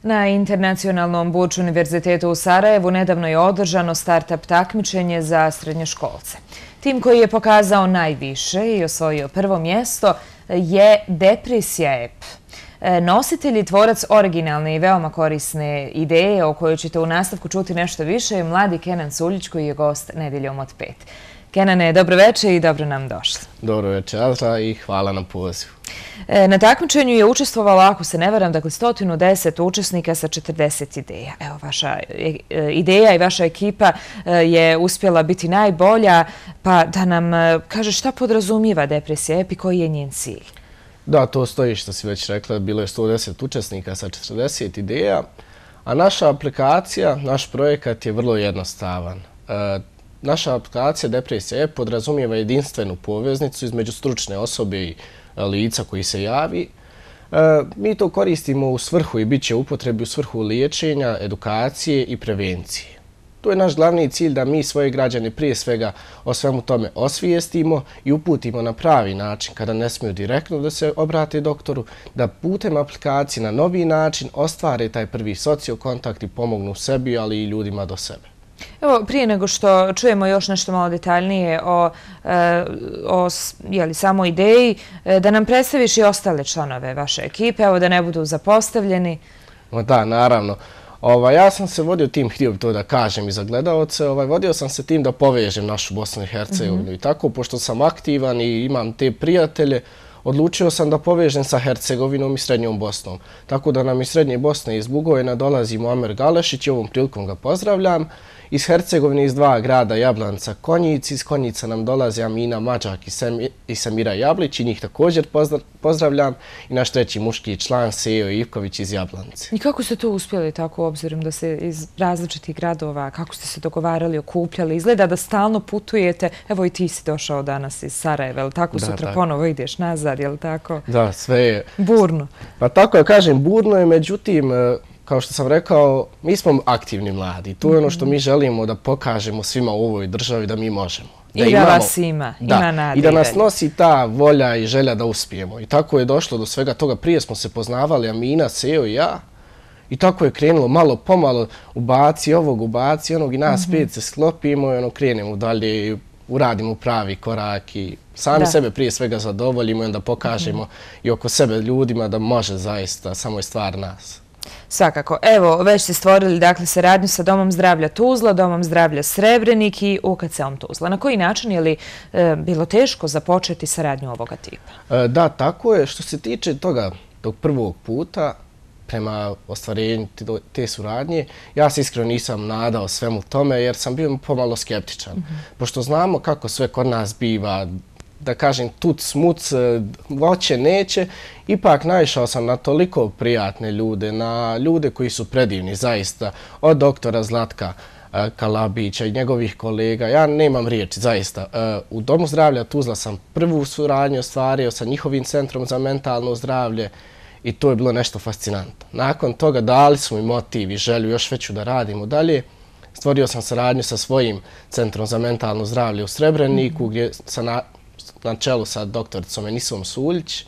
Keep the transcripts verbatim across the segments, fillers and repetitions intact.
Na Internacionalnom Burč univerzitetu u Sarajevu nedavno je održano start-up takmičenje za srednjoškolce. Tim koji je pokazao najviše i osvojio prvo mjesto je Depresija app. Nositelj i tvorac originalne i veoma korisne ideje o kojoj ćete u nastavku čuti nešto više je mladi Kenan Suljić koji je gost Nedjeljom od pet. Kenane, dobro večer i dobro nam došli. Dobro večer, Azra, i hvala na pozivu. Na takmičenju je učestvovalo, ako se ne varam, dakle sto deset učesnika sa četrdeset ideja. Evo, vaša ideja i vaša ekipa je uspjela biti najbolja, pa da nam kaže šta podrazumijeva Depresija app i koji je njen cilj? Da, to stoji što si već rekla, bilo je sto deset učesnika sa četrdeset ideja, a naša aplikacija, naš projekat je vrlo jednostavan. Naša aplikacija Depresija app podrazumijeva jedinstvenu poveznicu između stručne osobe i lica koji se javi. Mi to koristimo u svrhu i bit će upotrebi u svrhu liječenja, edukacije i prevencije. To je naš glavni cilj da mi svoje građane prije svega o svemu tome osvijestimo i uputimo na pravi način kada ne smiju direktno da se obrate doktoru, da putem aplikacije na novi način ostvare taj prvi sociokontakt i pomognu sebi, ali i ljudima do sebe. Evo, prije nego što čujemo još nešto malo detaljnije o, o jeli, samoj ideji, da nam predstaviš i ostale članove vaše ekipe, evo da ne budu zapostavljeni. O, da, naravno. Ova, ja sam se vodio tim, htio bi to da kažem i za gledalce, ovaj, vodio sam se tim da povežem našu Bosnu i Hercegovinu. Mm-hmm. I tako, pošto sam aktivan i imam te prijatelje, odlučio sam da povežem sa Hercegovinom i Srednjom Bosnom. Tako da nam iz Srednje Bosne iz Bugojna dolazi Muamer Galešić i ovom prilikom ga pozdravljam. Iz Hercegovine iz dva grada Jablanca Konjic, iz Konjica nam dolaze Amina Mađak i, Sem, i Samira Jablić i njih također pozdravljam. I naš treći muški član Sejo Ivković iz Jablance. I kako ste to uspjeli tako obzirom da se iz različitih gradova, kako ste se dogovarali, okupljali? Izgleda da stalno putujete, evo i ti si došao danas iz Sarajeva, je li tako? Da, sutra tako. Ponovo ideš nazad, je li tako? Da, sve je. Burno. Pa tako ja kažem, burno je, međutim, kao što sam rekao, mi smo aktivni mladi. To je ono što mi želimo da pokažemo svima u ovoj državi da mi možemo. Da I da imamo, vas ima, da, ima nade. I da nas nosi ta volja i želja da uspijemo. I tako je došlo do svega toga. Prije smo se poznavali, Amina, Sejo i ja. I tako je krenulo malo pomalo, ubaci ovog, ubaci onog i nas mm-hmm. pet se sklopimo i ono krenemo dalje i uradimo pravi korak i sami da. sebe prije svega zadovoljimo i onda pokažemo mm-hmm. i oko sebe ljudima da može zaista, samo je stvar nas. Svakako. Evo, već ste stvorili dakle, saradnju sa Domom zdravlja Tuzla, Domom zdravlja Srebrenik i U K C-om Tuzla. Na koji način je li e, bilo teško započeti saradnju ovoga tipa? E, da, tako je. Što se tiče toga tog prvog puta, prema ostvarenju te suradnje, ja se iskreno nisam nadao svemu tome jer sam bio pomalo skeptičan. Mm-hmm. Pošto znamo kako sve kod nas biva, da kažem, tuc, smuc, voće, neće, ipak naišao sam na toliko prijatne ljude, na ljude koji su predivni, zaista, od doktora Zlatka Kalabića i njegovih kolega. Ja nemam riječi, zaista. U Domu zdravlja Tuzla sam prvu suradnju ostvario sa njihovim centrom za mentalno zdravlje i to je bilo nešto fascinantno. Nakon toga dali su mi motiv i želju još veću da radimo dalje. Stvorio sam saradnju sa svojim centrom za mentalno zdravlje u Srebreniku, gdje sam na na čelu sa doktoricom Enisom Suljić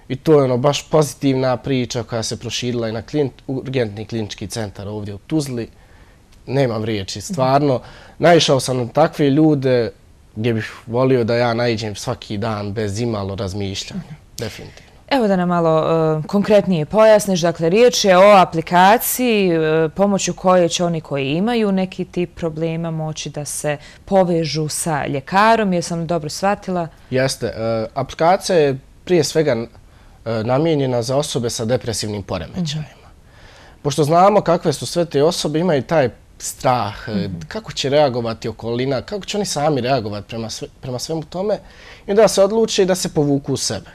i to je ono baš pozitivna priča koja se proširila i na klin, urgentni klinički centar ovdje u Tuzli. Nemam riječi, stvarno. Naišao sam na takve ljude gdje bih volio da ja naiđem svaki dan bez imalo razmišljanja. Definitivno. Evo da nam malo uh, konkretnije pojasniš. Dakle, riječ je o aplikaciji uh, pomoću koje će oni koji imaju neki tip problema moći da se povežu sa ljekarom. Jesam dobro shvatila? Jeste. Uh, aplikacija je prije svega uh, namijenjena za osobe sa depresivnim poremećajima. Mm-hmm. Pošto znamo kakve su sve te osobe, imaju taj strah, mm-hmm. kako će reagovati okolina, kako će oni sami reagovati prema, sve, prema svemu tome i da se odluče da se povuku u sebe.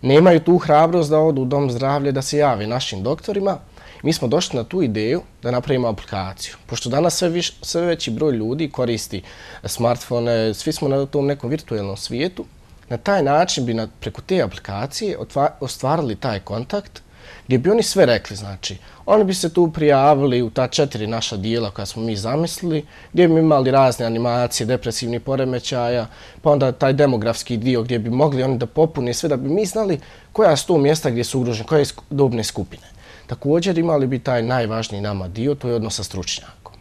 Nemaju tu hrabrost da odu u Dom zdravlja da se jave našim doktorima. Mi smo došli na tu ideju da napravimo aplikaciju. Pošto danas sve, viš, sve veći broj ljudi koristi smartfone, svi smo na tom nekom virtualnom svijetu, na taj način bi na, preko te aplikacije otva, ostvarili taj kontakt gdje bi oni sve rekli. Znači, oni bi se tu prijavili u ta četiri naša dijela koja smo mi zamislili, gdje bi imali razne animacije, depresivnih poremećaja, pa onda taj demografski dio gdje bi mogli oni da popune sve, da bi mi znali koja su to mjesta gdje su ugrožene, koje dobne skupine. Također imali bi taj najvažniji nama dio, to je odnos sa stručnjakom.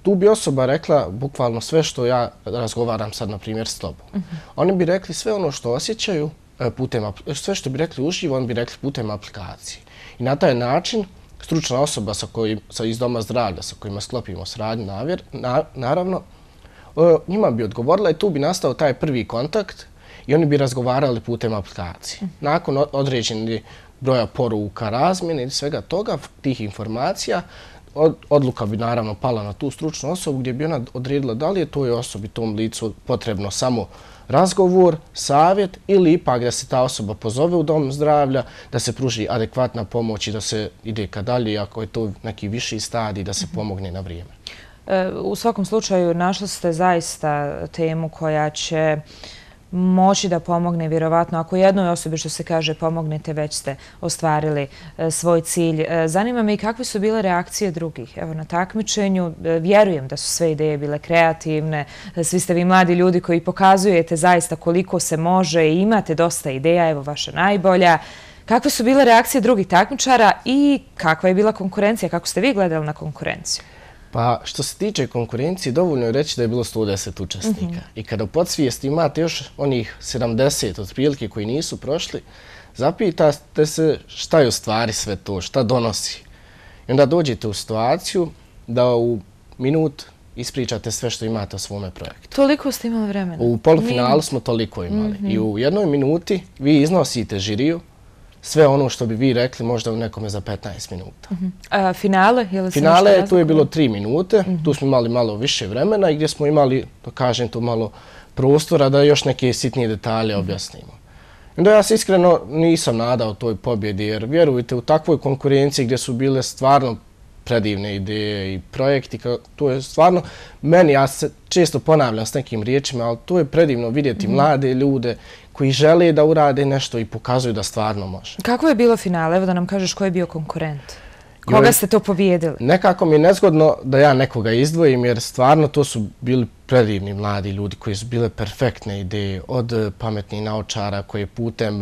Tu bi osoba rekla bukvalno sve što ja razgovaram sad, na primjer, s tobom. Mm-hmm. Oni bi rekli sve ono što osjećaju, putem, sve što bi rekli uživo, oni bi rekli putem aplikacije. I na taj način stručna osoba sa kojim, sa iz doma zdravlja sa kojima sklopimo sradnju, navjer, na, naravno, njima bi odgovorila i tu bi nastao taj prvi kontakt i oni bi razgovarali putem aplikacije. Nakon određenih broja poruka, razmjene i svega toga, tih informacija, od, odluka bi naravno pala na tu stručnu osobu gdje bi ona odredila da li je toj osobi, tom licu potrebno samo razgovor, savjet ili ipak da se ta osoba pozove u dom zdravlja, da se pruži adekvatna pomoć i da se ide ka dalje, ako je to neki viši stadij, da se pomogne na vrijeme. U svakom slučaju našli ste zaista temu koja će moći da pomogne, vjerovatno. Ako jednoj osobi, što se kaže, pomognete, već ste ostvarili svoj cilj. Zanima me i kakve su bile reakcije drugih. Evo, na takmičenju vjerujem da su sve ideje bile kreativne. Svi ste vi mladi ljudi koji pokazujete zaista koliko se može i imate dosta ideja. Evo, vaša najbolja. Kakve su bile reakcije drugih takmičara i kakva je bila konkurencija? Kako ste vi gledali na konkurenciju? Pa što se tiče konkurencije, dovoljno je reći da je bilo sto deset učesnika. Mm-hmm. I kada u podsvijesti imate još onih sedamdeset otprilike koji nisu prošli, zapitate se šta je u stvari sve to, šta donosi. I onda dođete u situaciju da u minut ispričate sve što imate o svome projektu. Toliko ste imali vremena? U polufinalu smo toliko imali. Mm-hmm. I u jednoj minuti vi iznosite žiriju sve ono što bi vi rekli možda u nekome za petnaest minuta. Uh-huh. A finale? Je li finale, tu je bilo tri minute, uh-huh. Tu smo imali malo više vremena i gdje smo imali, da kažem to, malo prostora da još neke sitnije detalje uh-huh. objasnimo. Onda ja se iskreno nisam nadao toj pobjedi, jer vjerujte, u takvoj konkurenciji gdje su bile stvarno predivne ideje i projekti, to je stvarno, meni, ja se često ponavljam s nekim riječima, ali to je predivno vidjeti mm-hmm. mlade ljude koji žele da urade nešto i pokazuju da stvarno može. Kako je bilo finale? Evo da nam kažeš ko je bio konkurent. Koga ste to pobijedili? Nekako mi je nezgodno da ja nekoga izdvojim, jer stvarno to su bili predivni mladi ljudi koji su bile perfektne ideje, od pametnih naučara koji putem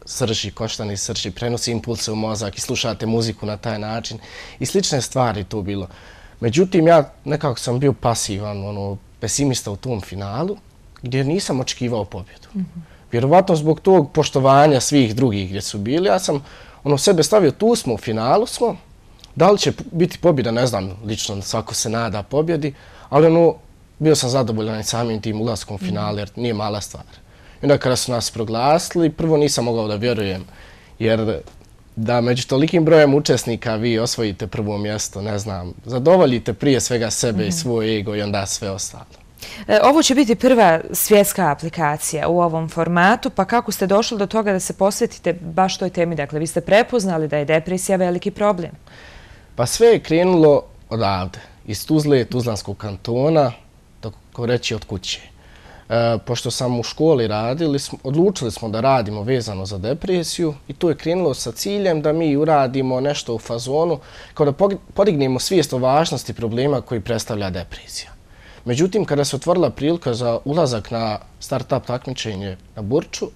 srži, koštani srži, prenosi impulse u mozak i slušate muziku na taj način i slične stvari to bilo. Međutim, ja nekako sam bio pasivan, ono, pesimista u tom finalu, gdje nisam očekivao pobjedu. Mm-hmm. Vjerovatno zbog tog poštovanja svih drugih gdje su bili, ja sam ono sebe stavio, tu smo, u finalu smo, da li će biti pobjeda, ne znam, lično svako se nada pobjedi, ali ono, bio sam zadovoljan samim tim ulaskom u finale, jer nije mala stvar. I onda kada su nas proglasili, prvo nisam mogao da vjerujem, jer da među tolikim brojem učesnika vi osvojite prvo mjesto, ne znam, zadovoljite prije svega sebe mm-hmm. i svoj ego i onda sve ostalo. Ovo će biti prva svjetska aplikacija u ovom formatu, pa kako ste došli do toga da se posvetite baš toj temi? Dakle, vi ste prepoznali da je depresija veliki problem. Pa sve je krenulo odavde, iz Tuzle, Tuzlanskog kantona, tako reći od kuće. E, pošto sam u školi radili, odlučili smo da radimo vezano za depresiju i to je krenulo sa ciljem da mi uradimo nešto u fazonu kao da podignemo svijest o važnosti problema koji predstavlja depresija. Međutim, kada se otvorila prilika za ulazak na start-up takmičenje na Burču,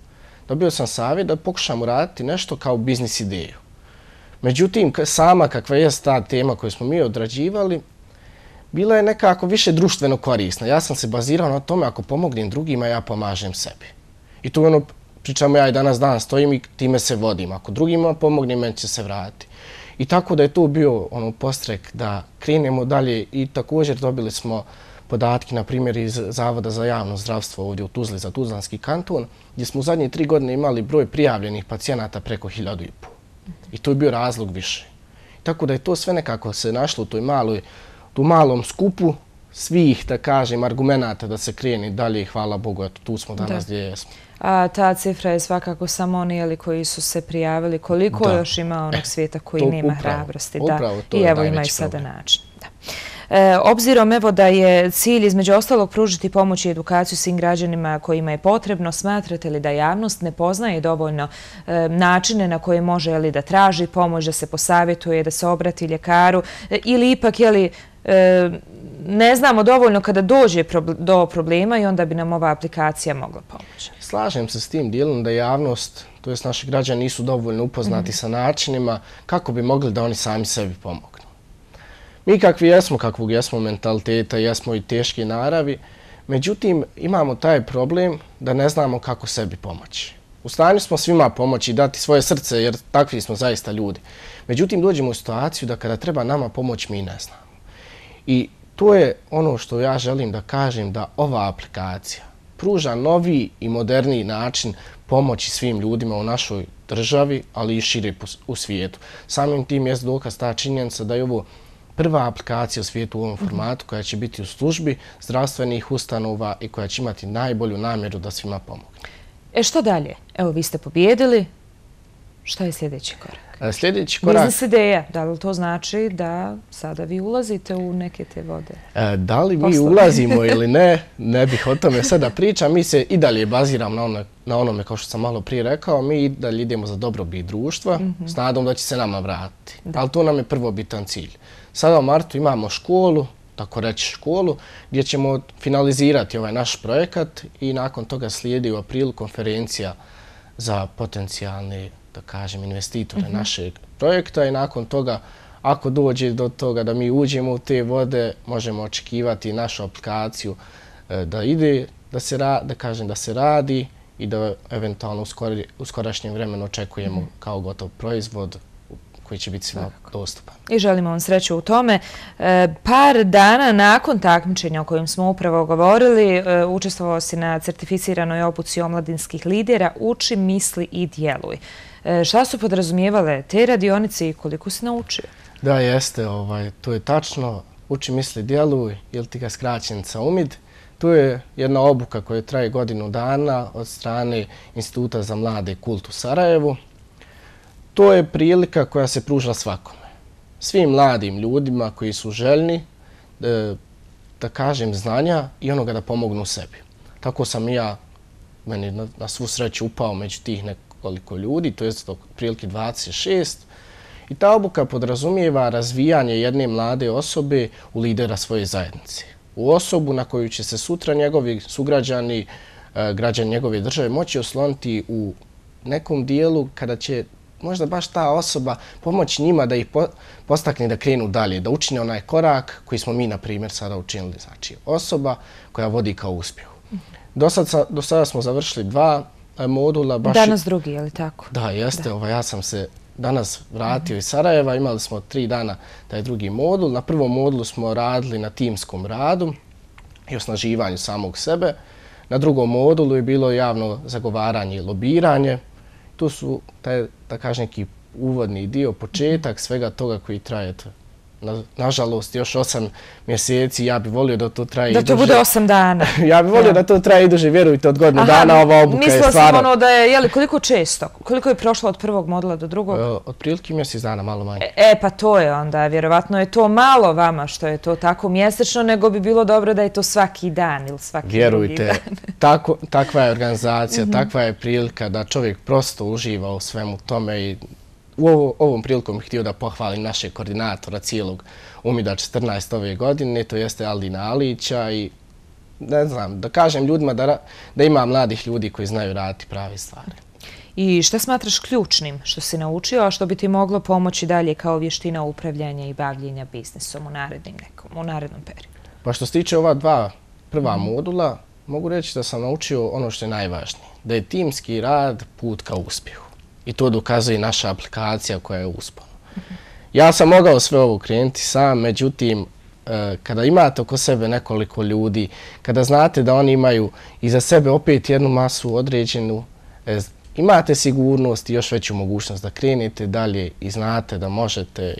dobio sam savjet da pokušam uraditi nešto kao biznis ideju. Međutim, sama kakva je ta tema koju smo mi odrađivali, bila je nekako više društveno korisna. Ja sam se bazirao na tome ako pomognem drugima, ja pomažem sebi. I tu ono, pričamo ja i danas dan stojim i time se vodim. Ako drugima pomognem, meni će se vratiti. I tako da je to bio ono postrek da krenemo dalje i također dobili smo podatke, na primjer, iz Zavoda za javno zdravstvo ovdje u Tuzli za Tuzlanski kanton, gdje smo u zadnje tri godine imali broj prijavljenih pacijenata preko hiljadu i pol. I to je bio razlog više. Tako da je to sve nekako se našlo u toj maloj, tu malom skupu svih, da kažem, argumenata da se kreni dalje i hvala Bogu, eto, tu smo danas gdje jesmo. A ta cifra je svakako samo oni koji su se prijavili. Koliko da. Još ima onog svijeta koji nema upravo, hrabrosti? Upravo, da. I evo imaju sada način. Da. E, obzirom evo da je cilj između ostalog pružiti pomoć i edukaciju svim građanima kojima je potrebno, smatrate li da javnost ne poznaje dovoljno e, načine na koje može je li, da traži pomoć, da se posavjetuje, da se obrati ljekaru e, ili ipak je li, e, ne znamo dovoljno kada dođe do problema i onda bi nam ova aplikacija mogla pomoći? Slažem se s tim dijelom da javnost to jest naši građani nisu dovoljno upoznati mm-hmm. sa načinima kako bi mogli da oni sami sebi pomognu. Mi kakvi jesmo, kakvog jesmo mentaliteta, jesmo i teške naravi, međutim imamo taj problem da ne znamo kako sebi pomoći. U stanju smo svima pomoći i dati svoje srce jer takvi smo zaista ljudi. Međutim dođemo u situaciju da kada treba nama pomoć mi ne znamo. I to je ono što ja želim da kažem, da ova aplikacija pruža novi i moderniji način pomoći svim ljudima u našoj državi, ali i šire u svijetu. Samim tim je dokaz ta činjenica da je ovo prva aplikacija u svijetu u ovom formatu koja će biti u službi zdravstvenih ustanova i koja će imati najbolju namjeru da svima pomogne. E što dalje? Evo, vi ste pobjedili. Šta je sljedeći korak? Sljedeći korak... Biznis ideja. Da li to znači da sada vi ulazite u neke te vode? Da li mi ulazimo ili ne, ne bih o tome sada pričam. Mi se i dalje baziramo na, ono, na onome, kao što sam malo prije rekao, mi i dalje idemo za dobrobit društva, mm-hmm. s nadom da će se nama vratiti. Da. Ali to nam je prvobitan cilj. Sada u martu imamo školu, tako reći školu, gdje ćemo finalizirati ovaj naš projekat i nakon toga slijedi u aprilu konferencija za potencijalne, da kažem, investitore mm-hmm. našeg projekta i nakon toga, ako dođe do toga da mi uđemo u te vode, možemo očekivati našu aplikaciju da ide, da se, ra, da kažem, da se radi i da eventualno u, skori, u skorašnjem vremenu očekujemo mm-hmm. kao gotov proizvod koji će biti svima dostupan. I želimo vam sreću u tome. E, par dana nakon takmičenja o kojem smo upravo govorili, e, učestvovao si na certificiranoj obuci omladinskih lidera Uči, misli i djeluj. E, šta su podrazumijevale te radionice i koliko si naučio? Da, jeste. Ovaj, to je tačno. Uči, misli, djeluj, ili ti ga skraćenica U M I D. Tu je jedna obuka koja traje godinu dana od strane Instituta za mlade Kult u Sarajevu. To je prilika koja se pruža svakome. Svim mladim ljudima koji su željni, da, da kažem, znanja i onoga da pomognu sebi. Tako sam i ja, meni na, na svu sreću, upao među tih nekoliko ljudi, to je prilike dvadeset šest. I ta obuka podrazumijeva razvijanje jedne mlade osobe u lidera svoje zajednice. U osobu na koju će se sutra njegovi sugrađani, građani njegove države moći osloniti u nekom dijelu kada će možda baš ta osoba pomoći njima da ih postakne da krenu dalje, da učine onaj korak koji smo mi, na primjer, sada učinili. Znači, osoba koja vodi kao uspjehu. Do sada, do sada smo završili dva modula. Baš danas drugi, je li tako? Da, jeste. Da. Ovaj, ja sam se danas vratio mm-hmm. iz Sarajeva. Imali smo tri dana taj drugi modul. Na prvom modulu smo radili na timskom radu i osnaživanju samog sebe. Na drugom modulu je bilo javno zagovaranje i lobiranje. Tu su, taj, da kažem, neki uvodni dio, početak svega toga koji traje. Na, nažalost, još osam mjeseci, ja bih volio da to traje i duže. Da to bude osam dana. Ja bih volio ja. da to traje i duže, vjerujte, od godinu Aha, dana ova obuka je stvarno. Mislila sam ono da je, jeli, koliko često? Koliko je prošlo od prvog modula do drugog? E, od prilike mjesec dana, malo manje. E, e, pa to je onda, vjerovatno je to malo vama što je to tako mjesečno, nego bi bilo dobro da je to svaki dan ili svaki vjerujte, drugi dan. tako, takva je organizacija, mm-hmm. takva je prilika da čovjek prosto uživa u svemu tome i u ovo, ovom prilikom bih htio da pohvalim našeg koordinatora cijelog U M I D-a četrnaest ove godine, to jeste Aldina Alića i ne znam, da kažem ljudima da, da ima mladih ljudi koji znaju raditi prave stvari. I šta smatraš ključnim što si naučio, a što bi ti moglo pomoći dalje kao vještina upravljanja i bavljenja biznisom u narednim nekom, u narednom periodu? Pa što se tiče ova dva prva mm. modula, mogu reći da sam naučio ono što je najvažnije, da je timski rad put ka uspjehu. I to dokazuje naša aplikacija koja je uspona. Mm-hmm. Ja sam mogao sve ovo krenuti sam, međutim, kada imate oko sebe nekoliko ljudi, kada znate da oni imaju iza sebe opet jednu masu određenu, imate sigurnost i još veću mogućnost da krenete dalje i znate da možete.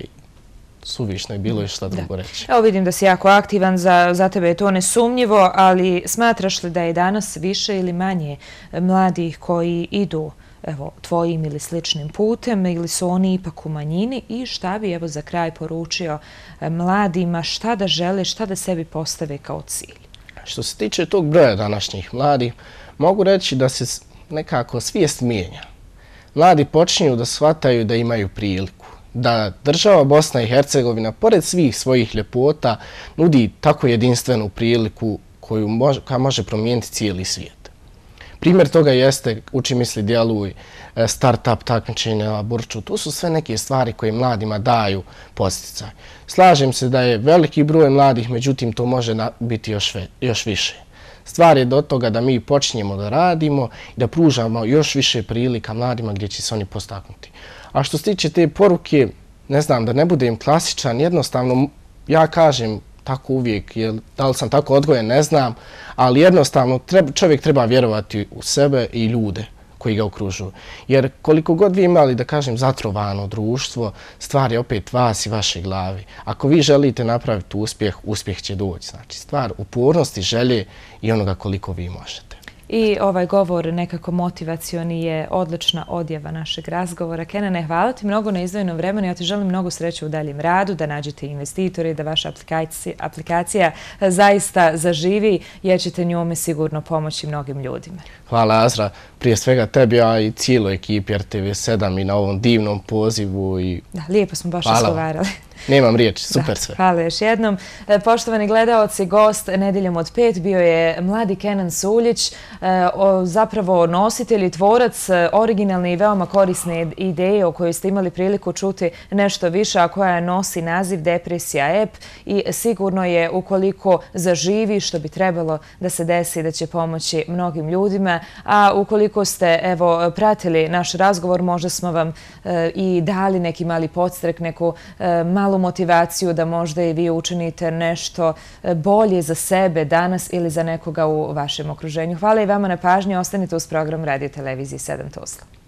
Suvišno je bilo i šta drugo reći. Evo vidim da si jako aktivan, za, za tebe je to nesumnjivo, ali smatraš li da je danas više ili manje mladih koji idu evo, tvojim ili sličnim putem ili su oni ipak u manjini i šta bi evo za kraj poručio mladima, šta da žele, šta da sebi postave kao cilj? Što se tiče tog broja današnjih mladih, mogu reći da se nekako svijest mijenja. Mladi počinju da shvataju da imaju priliku, da država Bosna i Hercegovina, pored svih svojih ljepota, nudi tako jedinstvenu priliku koju može, koja može promijeniti cijeli svijet. Primjer toga jeste Uči, misli, djeluj, start-up takmičenja na Burču. To su sve neke stvari koje mladima daju podsticaj. Slažem se da je veliki broj mladih, međutim to može biti još, još više. Stvar je do toga da mi počinjemo da radimo i da pružamo još više prilika mladima gdje će se oni postaknuti. A što se tiče te poruke, ne znam, da ne budem klasičan, jednostavno ja kažem tako uvijek, jer da li sam tako odgojen, ne znam, ali jednostavno treba, čovjek treba vjerovati u sebe i ljude koji ga okružuju. Jer koliko god vi imali, da kažem, zatrovano društvo, stvar je opet vas i vaše glavi. Ako vi želite napraviti uspjeh, uspjeh će doći. Znači, stvar upornosti, želje i onoga koliko vi možete. I ovaj govor nekako motivacioni je odlična odjava našeg razgovora. Kenane, hvala ti mnogo na izdvojenom vremenu. Ja ti želim mnogo sreće u daljem radu, da nađete investitori, da vaša aplikacija, aplikacija zaista zaživi, jer ćete njome sigurno pomoći mnogim ljudima. Hvala, Azra. Prije svega tebi, a i cijeloj ekipi R T V sedam i na ovom divnom pozivu. I... Da, lijepo smo baš razgovarali. Nemam riječi, super sve. Hvala još jednom. Poštovani gledaoci, gost Nedeljom od pet bio je mladi Kenan Suljić, zapravo nositelj i tvorac originalne i veoma korisne ideje o kojoj ste imali priliku čuti nešto više, a koja nosi naziv Depresija app i sigurno je, ukoliko zaživi, što bi trebalo da se desi, da će pomoći mnogim ljudima, a ukoliko ste evo pratili naš razgovor, možda smo vam i dali neki mali podstrek, neku malu motivaciju da možda i vi učinite nešto bolje za sebe danas ili za nekoga u vašem okruženju. Hvala i vama na pažnji. Ostanite uz program Radio Televizije sedam Tuzla.